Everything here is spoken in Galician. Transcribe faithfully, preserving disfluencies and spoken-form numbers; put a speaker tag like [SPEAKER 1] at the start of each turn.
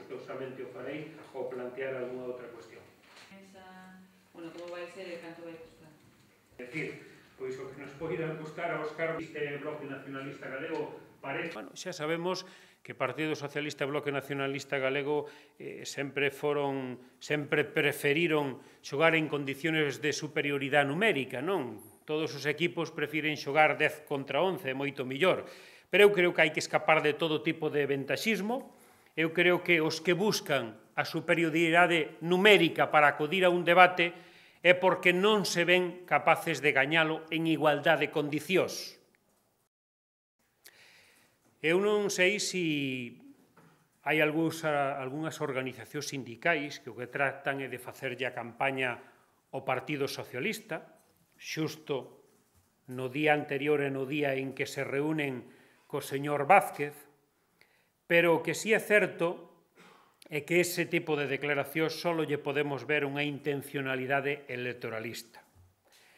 [SPEAKER 1] gustosamente o farei ou plantear algunha outra cuestión.
[SPEAKER 2] Bueno, como vai ser e canto vai costar?
[SPEAKER 1] É dicir, pois o que nos poida custar aos cargos este Bloque Nacionalista Galego parece... Bueno, xa sabemos que o Partido Socialista e o Bloque Nacionalista Galego eh, sempre foron, sempre preferiron xogar en condiciones de superioridade numérica, non? Todos os equipos prefiren xogar dez contra once, é moito millor. Pero eu creo que hai que escapar de todo tipo de ventaxismo. Eu creo que os que buscan a superioridade numérica para acudir a un debate é porque non se ven capaces de gañalo en igualdade de condicións. Eu non sei se hai algunhas organizacións sindicais que o que tratan é de facerlle a campaña ao Partido Socialista, xusto no día anterior e no día en que se reúnen co señor Vázquez, pero o que sí é certo é que ese tipo de declaracións só lle podemos ver unha intencionalidade electoralista.